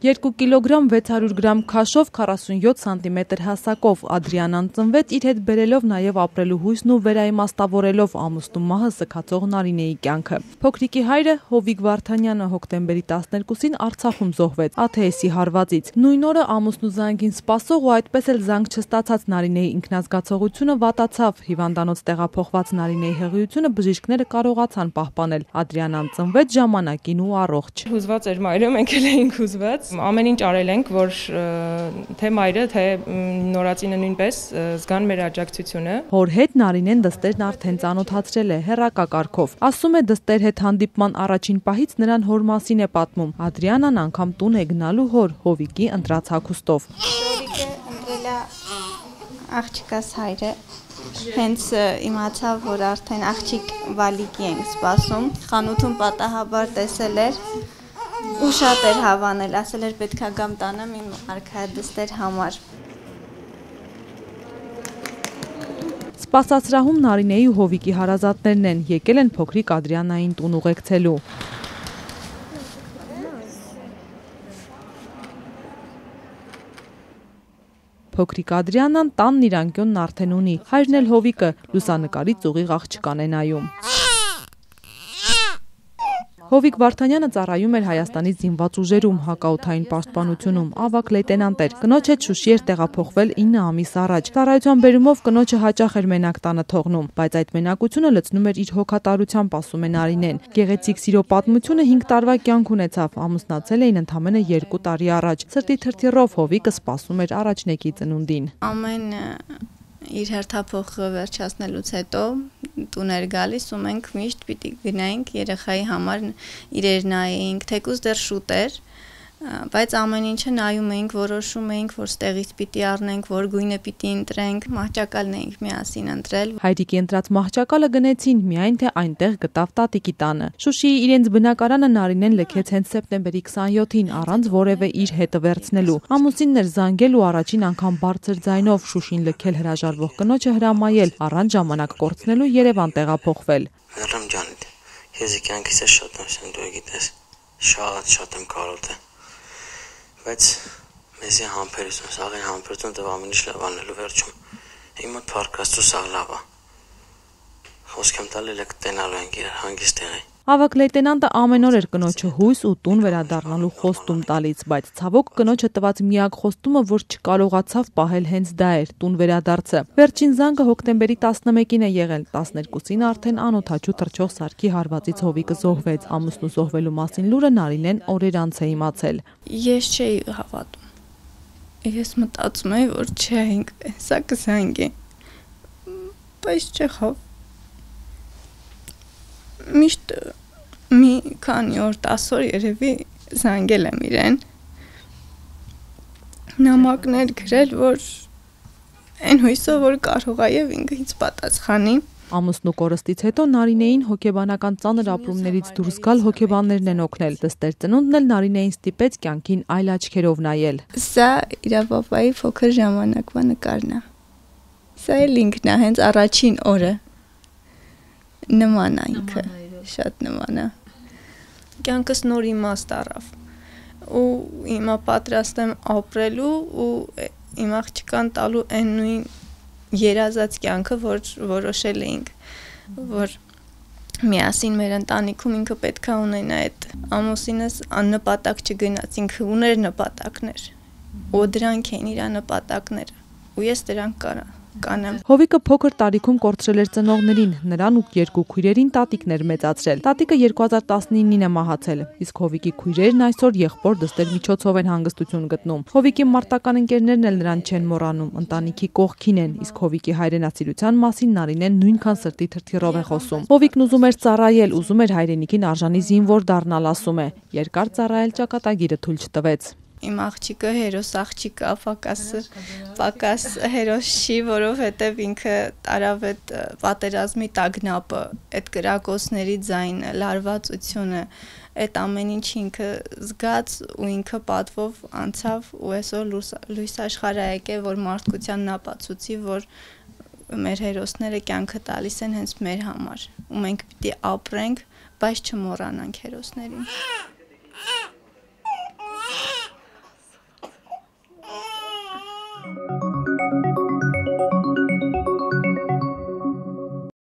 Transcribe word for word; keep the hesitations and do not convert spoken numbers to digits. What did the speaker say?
երկու կիլոգրամ վեց հարյուր գրամ քաշով քառասունյոթ սանտիմետր հասակով Ադրիանան ծնվեց իր հետ բերելով նաև ապրելու հույսն ու վերաիմաստավորելով ամուսնու մահը սգացող Նարինեի կյանքը։ Փոքրիկի հայրը Հովիկ Վարդանյանը հոկտեմբերի տասներկուսին Արցախում զոհվեց ա թե էսի հարվածից։ Նույն օրը ամուսնու զանգին սպասող ու այդպես էլ զանգ չստացած Նարինեի ինքնազգացողությունը վատացավ։ Հիվանդանոց տեղափոխված Նարինեի հղիությունը բժիշկները կարողացան պահպանել։ Ադրիանան ծնվեց ժամանակին ու առողջ։ Հուզված էր մայրը, մենք էլ էինք հուզված։ Ամեն ինչ արել ենք, որ թե մայրը, թե նորածինը նույնպես զգան մեր աջակցությունը։ Հոր հետ Նարինեն դստերն արդեն ծանոթացրել է հեռակա կարգով։ Ասում է դստեր հետ հանդիպման առաջին պահից նրան հոր մասին է պատմում։ Ադրիանան անգամ տուն է գնալու հոր Հովիկի ընտրած հագուստով։ Հովիկը ընտրել է աղջկաս հայրը։ Հենց իմացավ, որ արդեն աղջիկ Վալիկի ենք սպասում։ Խանութում պատահաբար տեսել էր ու շատ էր հավանել, ասել էր պետքա գամ տանեմ իմ արքայադստեր համար։ Սպասասրահում Նարինեի ու Հովիկի հարազատներն են, եկել են փոքրիկ Ադրիանային տուն ուղեկցելու։ Փոքրիկ Ադրիանան տանն իր անկյունն արդեն ունի, հայրն էլ Հովիկը լուսանկարից ուղիղ աղջկան է նայում։ Հովիկ Վարդանյանը ծառայում էր Հայաստանի զինված ուժերում, հակաօդային պաշտպանությունում, ավագ լեյտենանտ էր։ Կնոջ հետ Շուշի էր տեղափոխվել ինը ամիս առաջ։ Ծառայության բերումով կնոջը հաճախ էր մենակ տանը թողնում, բայց այդ մենակությունը լցնում էր իր հոգատարությամբ, ասում է Նարինեն։ Գեղեցիկ սիրո պատմությունը հինգ տարվա կյանք ունեցավ, ամուսնացել էին ընդամենը երկու տարի առաջ։ Սրտի թրթիռով Հովիկը սպասում էր առաջնեկի ծնունդին։ Ամեն իր հերթափոխը վերջացնելուց հետո տուն էր գալիս ու մենք միշտ պիտի գնայինք երեխայի համար իրեր նայեինք, թեկուզ դեռ շուտ էր, բայց ամեն ինչը նայում էինք, որոշում էինք, որ ստեղից պիտի առնենք, որ գույնը պիտի ընտրենք, մահճակալն էինք միասին ընտրել։ Հայրիկի ընտրած մահճակալը գնեցին, միայն թե այնտեղ գտավ տատիկի տանը։ Շուշիի իրենց բնակարանը Նարինեն լքեց հենց սեպտեմբերի քսանյոթին, առանց որևէ իր հետը վերցնելու։ Ամուսինն էր զանգել ու առաջին անգամ բարձր ձայնով Շուշին լքել հրաժարվող կնոջը հրամայել, առանց ժամանակ կորցնելու Երևան տեղափոխվել։ Հերրամ ջան, ես կյանքիս ես շատ եմ դու գիտես, շատ շատ եմ կարոտը։ Բայց մեզի համբերություն, սաղին համբերություն դեպ ամեն ինչ լավ անելու վերջում։ Իմ մոտ փառքաստու սաղ լավ է։ Խոսք եմ տալի լեք տենալու ենք իրար հանգիստ տեղի։ Ավագ լեյտենանտը ամեն օր էր կնոջը հույս ու տուն վերադառնալու խոստում տալիս, բայց ցավոք կնոջը տված միակ խոստումը, որ չկարողացավ պահել հենց դա էր՝ տուն վերադարձը։ Վերջին զանգը հոկտեմբերի տասնմեկին է եղել, տասներկուսին արդեն անօդաչու թռչող սարքի հարվածից Հովիկը զոհվեց։ Ամուսնու զոհվելու մասին լուրը Նարինեն օրեր անց է իմացել։ Ես չէի հավատում։ Ես մտածում էի, որ չէինք, սա կզանգի։ Բայց չեղավ։ Միշտ մի քանի օր տասը օր երևի զանգել եմ իրեն, նամակներ գրել, որ այն հույսով, որ կարող է եւ ինքը ինձ պատասխանի։ Ամուսնու կորստից հետո Նարինեին հոգեբանական ծանր ապրումներից դուրս գալ հոգեբաններն են օգնել։ Դստեր ծնունդն էլ Նարինեին ստիպեց կյանքին այլ աչքերով նայել։ Սա իր պապայի փոքր ժամանակվա նկարն է։ Սա էլ ինքն է, հենց առաջին օրը։ Նման է ինքը, շատ նման է։ Կյանքս նոր իմաստ առավ ու հիմա պատրաստ եմ ապրելու ու իմ աղջկան տալու այն նույն երազած կյանքը, որ որոշել էինք, որ միասին մեր ընտանիքում ինքը պետք է ունենա այդ ամուսինս աննպատակ չգնաց, ինքը ուներ նպատակներ ու դրանք էին իր նպատակները ու ես դրանք կարա կանեմ։ Հովիկը փոքր տարիքում կորցրել էր ծնողներին, նրան ու երկու քույրերին տատիկն էր մեծացրել։ Տատիկը երկու հազար տասնինին է մահացել, իսկ Հովիկի քույրերն այսօր եղբոր դստեր միջոցով են հանգստություն գտնում։ Հովիկի մարտական ընկերներն էլ նրան չեն մոռանում, ընտանիքի կողքին են, իսկ Հովիկի հայրենասիրության մասին Նարինեն նույնքան սրտի թրթիռով է խոսում։ Հովիկն ուզում էր ծառայել, ուզում էր հայրենիքին արժանի զինվոր դառնալ, ասում է։ Երկար ծառայել ճակատագիրը թույլ չտվեց։ Իմ աղջիկը հերոս աղջիկ է, պակաս պակաս հերոս չի, որովհետև ինքը տարավ այդ պատերազմի տագնապը, այդ կրակոցների ձայնը, լարվածությունը, այդ ամեն ինչ ինքը զգաց ու ինքը պատվով անցավ ու այսօր լույս աշխարհ է եկել, որ մարդկությանն ապացուցի, որ մեր հերոսները կյանքը տալիս են հենց մեր համար ու մենք պիտի ապրենք, բայց չմոռանանք հերոսներին։